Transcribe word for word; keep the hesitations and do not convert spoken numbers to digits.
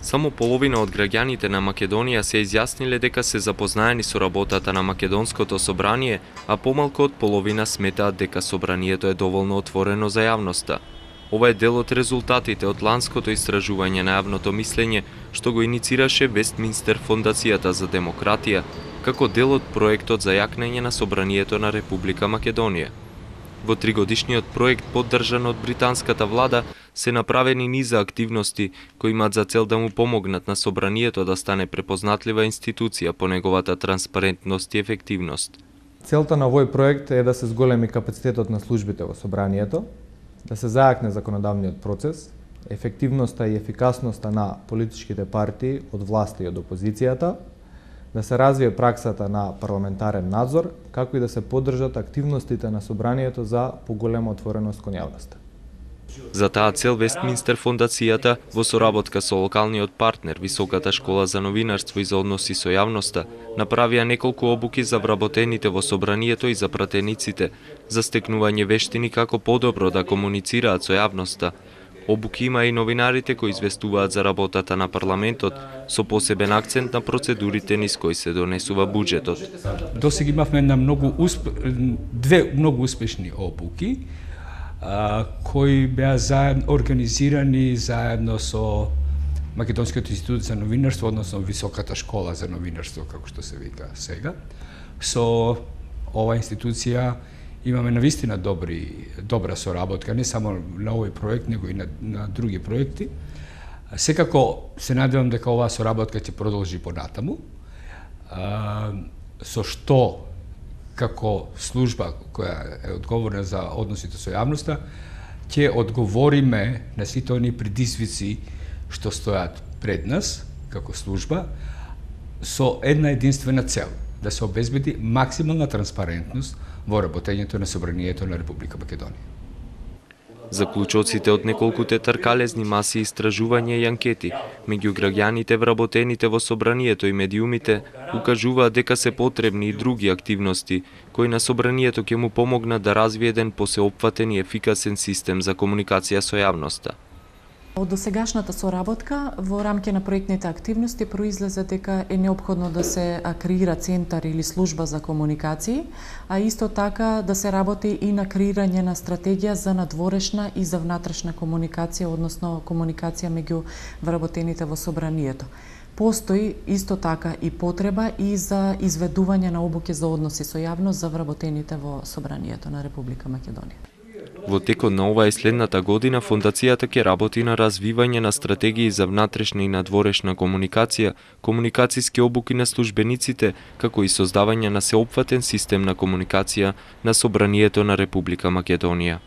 Само половина од граѓаните на Македонија се изјасниле дека се запознаени со работата на Македонското собрание, а помалку од половина сметаат дека собранието е доволно отворено за јавноста. Ова е дел од резултатите од ланското истражување на јавното мислење што го иницираше Вестминстер Фондацијата за демократија, како дел од проектот за јакнење на собранието на Република Македонија. Во тригодишниот проект, поддржан од британската влада, се направени низа активности кои имаат за цел да му помогнат на собранието да стане препознатлива институција по неговата транспарентност и ефективност. Целта на овој проект е да се зголеми капацитетот на службите во собранието, да се зајакне законодавниот процес, ефективноста и ефикасноста на политичките партии од власта и од опозицијата, да се развие праксата на парламентарен надзор, како и да се поддржат активностите на собранието за поголема отвореност кон јавноста. За таа цел Вестминстер Фондацијата во соработка со локалниот партнер Високата школа за новинарство и за односи со јавноста направија неколку обуки за вработените во собранието и за пратениците за стекнување вештини како подобро да комуницираат со јавноста. Обуки има и новинарите кои известуваат за работата на парламентот со посебен акцент на процедурите низ кои се донесува буџетот. Досега имавме на многу усп... две многу успешни обуки а, кои беа заедно организирани заедно со Македонскиот институт за новинарство, односно Високата школа за новинарство, како што се вика сега. Со ова институција имаме навистина добри, добра соработка, не само на овој проект, него и на, на други проекти. Секако се надевам дека оваа соработка ќе продолжи понатаму, а, со што како служба која е одговорна за односите со јавноста, ќе одговориме на сите оние предизвици што стојат пред нас како служба со една единствена цел, да се обезбеди максимална транспарентност во работењето на собранието на Република Македонија. Заклучоците од неколкуте тркалезни маси истражување и анкети меѓу граѓаните вработените во собранието и медиумите укажуваат дека се потребни и други активности кои на собранието ќе му помогнат да развие еден посеопфатен и ефикасен систем за комуникација со јавноста. Од досегашната соработка во рамки на проектните активности произлезе дека е неопходно да се креира центар или служба за комуникации, а исто така да се работи и на креирање на стратегија за надворешна и за внатрешна комуникација, односно комуникација меѓу вработените во собранието. Постои исто така и потреба и за изведување на обуки за односи со јавност за вработените во собранието на Република Македонија. Во текот на оваа и следната година Фондацијата ќе работи на развивање на стратегии за внатрешна и надворешна комуникација, комуникациски обуки на службениците, како и создавање на сеопфатен систем на комуникација на собранието на Република Македонија.